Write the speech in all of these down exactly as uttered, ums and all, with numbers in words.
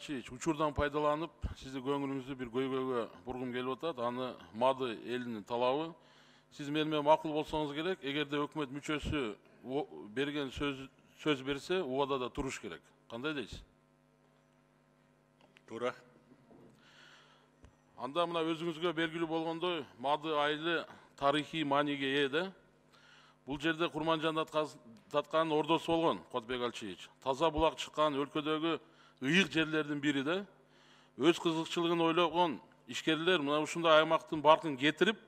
Алчиевич, учурдан пайдаланып, сизди көңүлүңүздү бир көйгөйгө бургум келип атат. Аны Мады элинин талабы. Сиз менен макул болсоңуз керек, эгерде өкмөт мүчөсү берген сөз сөз берсе, убадада туруш керек. Кандай дейсиз? Туура. Анда мына өзүңүзгө белгилүү болгондой, Мады айылы тарыхый мааниге ээ да. Бул жерде Курманжан татканын ордосу болгон, Кодбек Алчиевич. Таза булак чыккан өлкөдөгү ыйык жерлердин бири да. Өз кызыкчылыгын ойлогон ишкерлер мына ушундай аймактын баркын кетирип,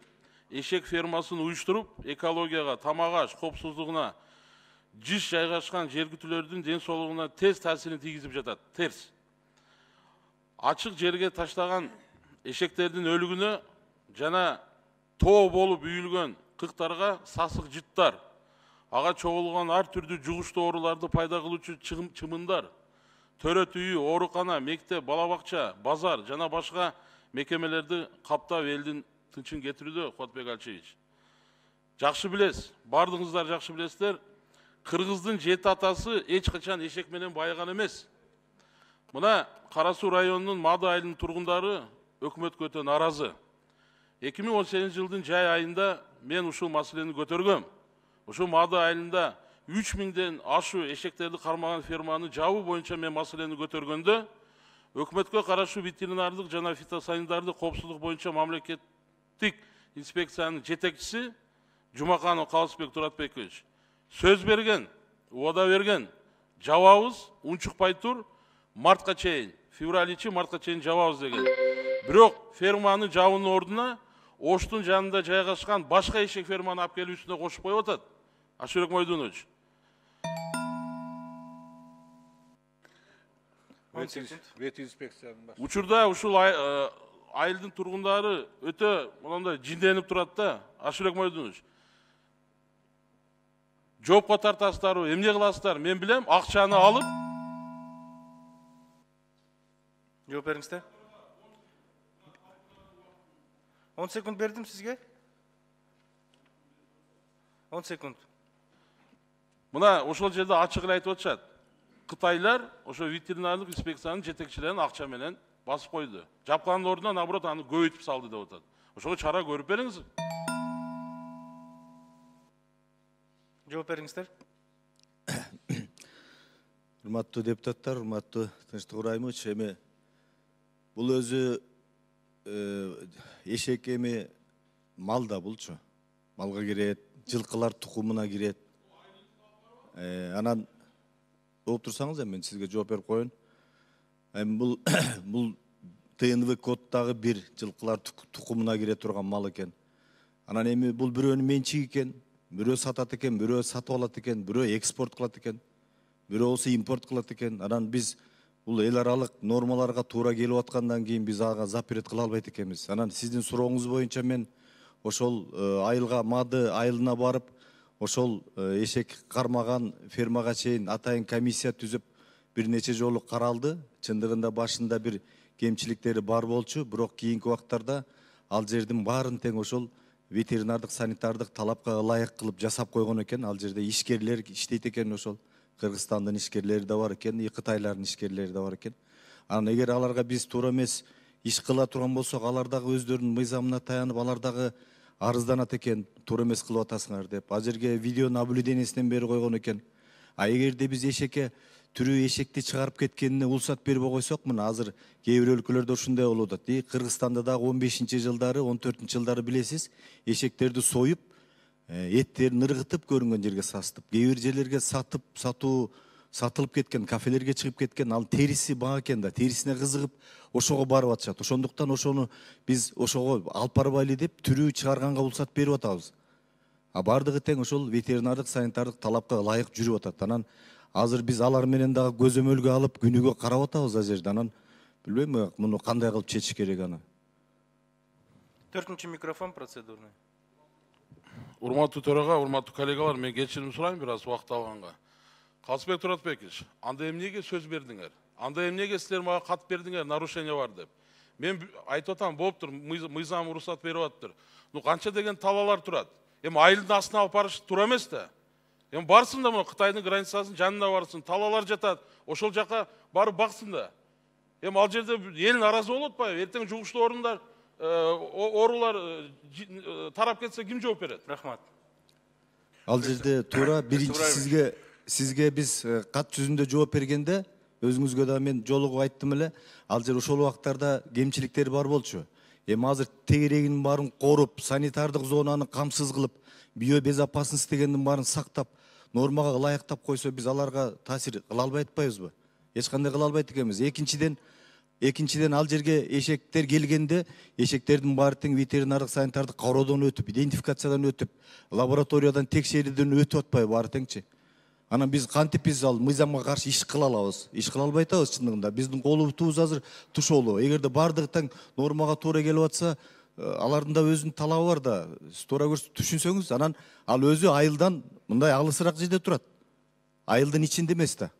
эшек фермасын уюштуруп, экологияга, тамак-аш коопсуздугуна жиш жайгашкан жергиликтүүлөрдүн ден соолугуна тез таасирин тийгизип жатат. Терс. Ачык жерге таштаган эшектердин өлүгүнө жана тоо болуп үйүлгөн кыктарга сасык жыттар, ага чогулган ар түрдүү жугуштуу ооруларды пайда кылуучу чымындар, төрөт үйү, оорукана, мектеп, бала бакча, базар жана башка мекемелерди каптап элдин тынчын кетирүүдө, Кодбек Алчиевич. Жакшы билесиз, бардыгыңыздар жакшы билесиздер, кыргыздын жети атасы эч качан эшек менен байыган эмес. Мына Кара Суу районунун Мады айылынын тургундары өкмөткө өтө нааразы. эки миң он сегизинчи жылдын жай айында мен ушул маселени көтөргөм. Ушул Мады айылында үч миңден ашуу эшектерди кармаган ферманы жабуу боюнча мен маселени көтөргөндө, өкмөткө караштуу ветеринардык жана фитосанитардык коопсуздук боюнча мамлекеттик инспекциянын жетекчиси Жумаканов Калысбек Туратбекович сөз берген, убада берген, жабабыз, унчукпай тур, мартка чейин, февраль ичи мартка чейин жабабыз деген. Бирок ферманын жабуунун ордуна Оштун жанында жайгашкан башка эшек ферманы алып келип үстүнө кошуп коюп атат. Ашырек Мойдунович. Вет инспекциянын башы. Учурда ушул айылдын тургундары өтө мондай жинденип турат да, Ашырек Мойдунович. Жоопко тартасыздарбы, эмне кыласыздар? Мен билем, акчаны алып. Жооп бериңиздер. он секунд бердим сизге. он секунд. Мына ошол жерде ачык эле айтып атышат. Кытайлар ошо ветеринардык инспекциянын жетекчилерин акча менен басып койду. Жапкандын ордуна наоборот аны көбөйтүп салды деп атат. Ошого чара көрүп бериңиз. Жооп бериңиздер. Урматтуу депутаттар, урматтуу Тынчтык Ыбрайымович, эми бул өзү эшек эми мал да булчу. Малга кирет, жылкылар тукумуна кирет. Анан окуп турсаңыз эми мен сизге жооп берип коеюн. Эми бул бул ТНВ коддагы бир жылкылар тукумуна кире турган мал экен. Анан эми бул бирөөнүн менчиги экен, бирөө сатат экен, бирөө сатып алат экен, бирөө экспорт кылат экен, бирөө болсо импорт кылат экен. Анан биз бул эл аралык нормаларга туура келип аткандан кийин биз ага запрет кыла албайт экенбиз. Анан сиздин сурооңуз боюнча мен ошол айылга, Мады айылына барып, ошол эшек кармаган фермага чейин атайын комиссия түзүп бир нече жолу каралды. Чындыгында башында бир кемчиликтери бар болчу, бирок кийинки убактарда ал жердин баарын тең ошол ветеринардык санитардык талапка ылайык кылып жасап койгон экен. Ал жерде ишкерлер иштейт экен, ошол Кыргызстандын ишкерлери да бар экен, Кытайлардын ишкерлери да бар экен. Анан эгер аларга биз туура эмес иш кыла турган болсок, алар дагы өздөрүнүн мыйзамына таянып, алар дагы арызданат экен, туура эмес кылып атасыңар деп. Ал жерге видео наблюдениесинен бери койгон экен. А эгерде биз эшекке түрүү эшекти чыгарып кеткенине уруксат бербей койсок, мына азыр кээ бир өлкөлөрдө ушундай болуп атат. Кыргызстанда дагы он бешинчи жылдары, он төртүнчү жылдары билесиз, эшектерди союп, эттерин ыргытып көрүнгөн жерге састып, кээ бир жерлерге сатып, сатуу сатылып кеткен, кафелерге чыгып кеткен, ал териси баа экен да, терисине кызыгып ошого барып атышат. Ошондуктан ошону биз ошого алып барбайлы деп түрүү чыгарганга уруксат берип атабыз. А бардыгы тең ошол ветеринардык санитардык талапка ылайык жүрүп атат. Анан азыр биз алар менен дагы көзөмөлгө алып күнүгө карап атабыз ал жерде. Анан билбейм муну кандай кылып чечиш керек аны. Төртүнчү микрофон процедурный. Урматтуу төрага, урматтуу коллегалар, мен кечирим сурайм бир аз убакыт алганга. Калысбек Туратбекович, анда эмнеге сөз бердиңер? Анда эмнеге силер мага кат бердиңер, нарушение бар деп? Мен айтып атам, болуптур, мыйзам уруксат берип атыптыр. Ну канча деген талалар турат? Эми айылдын астына алып барыш туура эмес да. Эми барсын да, мына Кытайдын границасынын жанына барсын, талалар жатат. Ошол жака барып баксын да. эми ал жерде эл нааразы болуп атпайбы? Эртең жугуштуу орундар оорулар тарап кетсе ким жооп берет? Рахмат. Ал жерде туура биринчи сизге сизге биз кат жүзүндө жооп бергенде өзүңүзгө да мен жолугуп айттым эле, ал жер ошол убактарда кемчиликтер бар болчу. Эми азыр тегерегинин баарын коруп, санитардык зонаны камсыз кылып, био безопасность дегендин баарын сактап, нормага ылайыктап койсо биз аларга таасир кыла албай атпайбызбы? Эч кандай кыла албайт экенбиз. Экинчиден, экинчиден ал жерге эшектер келгенде, эшектердин баары тең ветеринардык санитардык кароодон өтүп, идентификациядан өтүп, лабораториядан текшерүүдөн өтүп атпайбы баары теңчи? Анан биз кантип биз ал мыйзамга каршы иш кыла алабыз? Иш кыла албай атабыз чындыгында. Биздин колубуз азыр тушоолу. Эгерде бардыгы тең нормага туура келип атса, алардын да өзүнүн талабы бар да. Сиз туура түшүнсөңүз, анан ал өзү айылдан мындай алысыраак жерде турат. Айылдын ичинде эмес да.